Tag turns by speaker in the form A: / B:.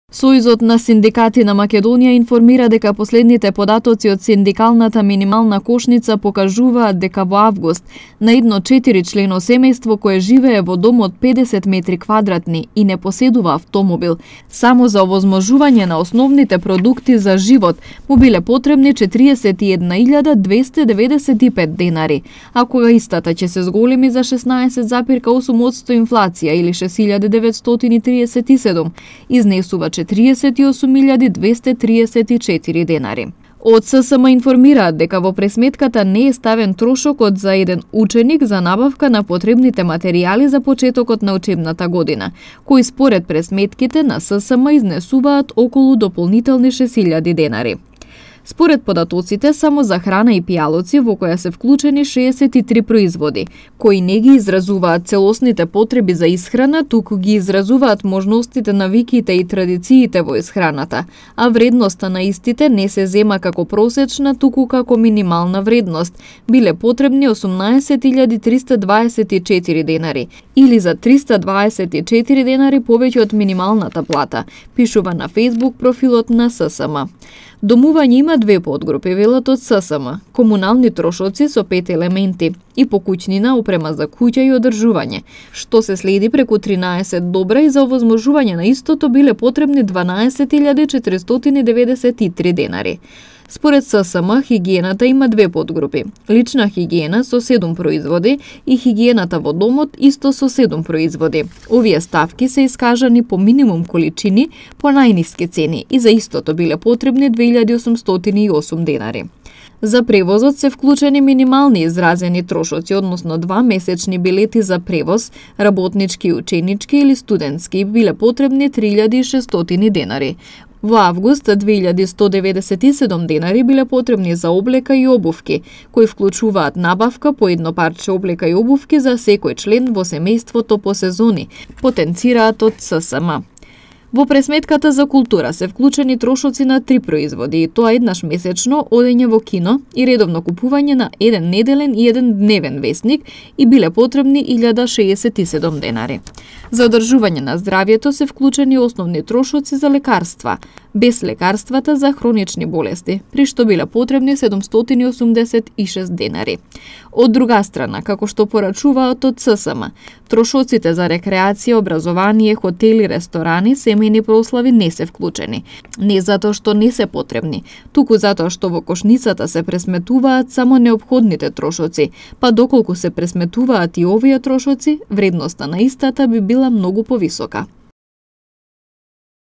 A: Сојузот на синдикати на Македонија информира дека последните податоци од синдикалната минимална кошница покажуваат дека во август на едно 4-члено семејство кое живее во дом од 50 метри квадратни и не поседува автомобил, само за овозможување на основните продукти за живот му биле потребни 41.295 денари, а кога истата ќе се зголеми за 16,8% инфлација или 6.937, изнесува 48.234 денари. Од ССМ информираат дека во пресметката не е ставен трошокот за еден ученик за набавка на потребните материјали за почетокот на учебната година, кои според пресметките на ССМ изнесуваат околу дополнителни 6.000 денари. Според податоците, само за храна и пијалоци во која се вклучени 63 производи, кои не ги изразуваат целосните потреби за исхрана, туку ги изразуваат можностите, навиките и традициите во исхраната, а вредноста на истите не се зема како просечна, туку како минимална вредност, биле потребни 18.324 денари, или за 324 денари повеќе од минималната плата, пишува на Facebook профилот на ССМ. Домување има две подгрупи, велат од ССМ: комунални трошоци со 5 елементи и покуќнина, опрема за куќа и одржување, што се следи преку 13 добра и за овозможување на истото биле потребни 12.493 денари. Според ССМ, хигиената има две подгрупи: лична хигиена со 7 производи и хигиената во домот исто со 7 производи. Овие ставки се искажани по минимум количини по најниски цени и за истото биле потребни 2.808 денари. За превозот се вклучени минимални изразени трошоци, односно 2 месечни билети за превоз, работнички, ученички или студентски, биле потребни 3.600 денари. Во август 2.197 денари биле потребни за облека и обувки, кои вклучуваат набавка по едно парче облека и обувки за секој член во семејството по сезони, потенцираат од ССМ. Во пресметката за култура се вклучени трошоци на 3 производи, и тоа еднаш месечно, одење во кино и редовно купување на еден неделен и еден дневен весник, и биле потребни 1.067 денари. За одржување на здравјето се вклучени основни трошоци за лекарства, без лекарствата за хронични болести, при што биле потребни 786 денари. Од друга страна, како што порачуваат од ССМ, трошоците за рекреација, образование, хотели, ресторани, семејни прослави не се вклучени. Не затоа што не се потребни, туку затоа што во кошницата се пресметуваат само неопходните трошоци, па доколку се пресметуваат и овие трошоци, вредноста на истата би била многу повисока.